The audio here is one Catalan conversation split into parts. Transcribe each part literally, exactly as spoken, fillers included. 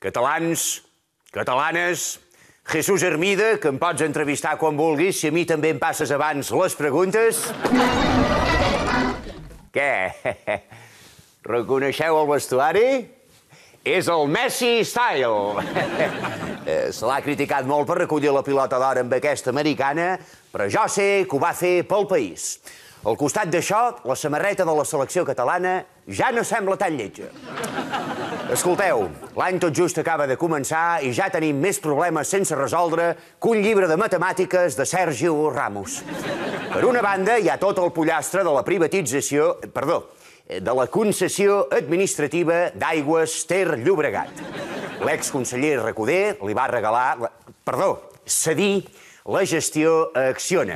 Catalans, catalanes, Jesús Hermida, que em pots entrevistar quan vulguis, si a mi també em passes abans les preguntes. Què? Reconeixeu el vestuari? És el Messi Style. Se l'ha criticat molt per recollir la pilota d'or amb aquesta americana, però jo sé que ho va fer pel país. Al costat d'això, la samarreta de la selecció catalana ja no sembla tan lletja. Escolteu, l'any tot just acaba de començar i ja tenim més problemes sense resoldre que un llibre de matemàtiques de Sergio Ramos. Per una banda, hi ha tot el pollastre de la privatització... Perdó, de la concessió administrativa d'Aigües Ter Llobregat. L'exconseller Recoder li va regalar... Perdó, cedir la gestió a Acciona.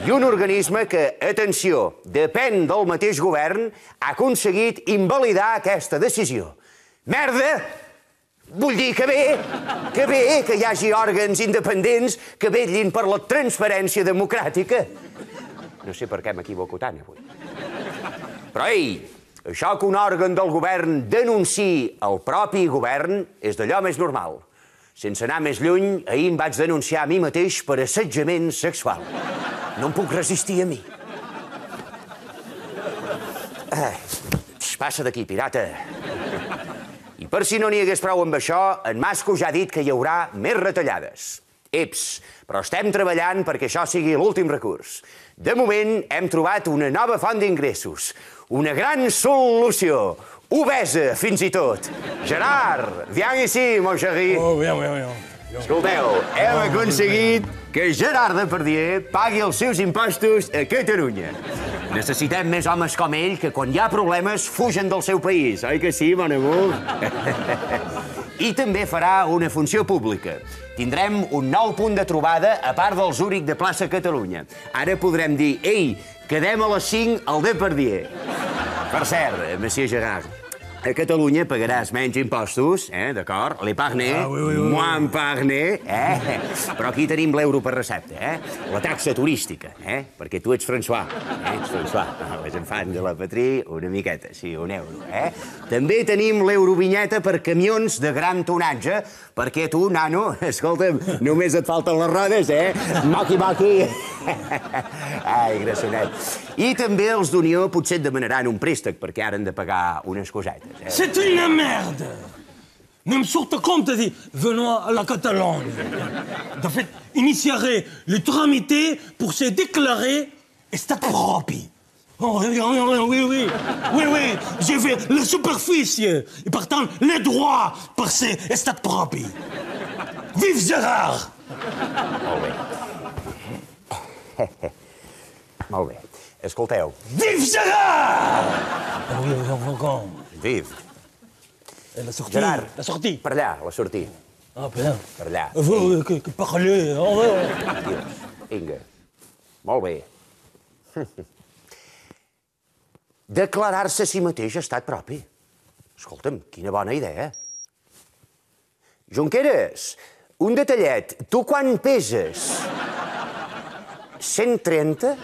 I un organisme que, atenció, depèn del mateix govern, ha aconseguit invalidar aquesta decisió. Merda! Vull dir que bé, que bé que hi hagi òrgans independents que vetllin per la transparència democràtica. No sé per què m'equivoco tant avui. Però, ei, això que un òrgan del govern denunciï el propi govern és d'allò més normal. Sense anar més lluny, ahir em vaig denunciar a mi mateix per assetjament sexual. No em puc resistir a mi. Ai, passa d'aquí, pirata. I per si no n'hi hagués prou amb això, en Masco ja ha dit que hi haurà més retallades. Eps, però estem treballant perquè això sigui l'últim recurs. De moment, hem trobat una nova font d'ingressos. Una gran solució. Obesa, fins i tot. Gerard, viens ici, mon chéri. Oh, bien, bien, bien. Escolteu, hem aconseguit que Gerard Depardieu pagui els seus impostos a Catalunya. Necessitem més homes com ell que quan hi ha problemes fugen del seu país, oi que sí, mon amor? I també farà una funció pública. Tindrem un nou punt de trobada a part del Zúrich de plaça Catalunya. Ara podrem dir, ei, quedem a les cinc al Depardieu. Per cert, monsieur Gerard, a Catalunya pagaràs menys impostos, eh, d'acord? Les parners, Ah, oui, oui, oui. moi en parner, eh? Però aquí tenim l'euro per recepta, eh? La taxa turística, eh? Perquè tu ets François, eh? Ets François. Les enfants de la patria, una miqueta, sí, un euro, eh? També tenim l'eurovinyeta per camions de gran tonatge, perquè tu, nano, escolta'm, només et falten les rodes, eh? Moqui, moqui. Ai, grassonet. I també els d'Unió potser et demanaran un préstec perquè ara han de pagar unes cosetes. Eh? C'est une merde. Même sur te compte, dit, venons à la Catalogne. En fait, initierait les tramités pour se déclarer état propre. Oh, oui, oui, oui, oui, oui, j'ai fait la superficie et partant les droits par ces états propres. Vive Gérard! Molt bé. Molt bé. Escolteu. Vive Gérard! Ah oui, encore. Vive. La sortie. Gerard. La sortie. Per allà, la sortida. Ah, bien. Per allà. Vous, que, que parlez. Oh, ouais. Dios. Vinga. Molt bé. Declarar-se a si mateix estat propi. Escolta'm, quina bona idea. Junqueras, un detallet. Tu quan peses? cent trenta?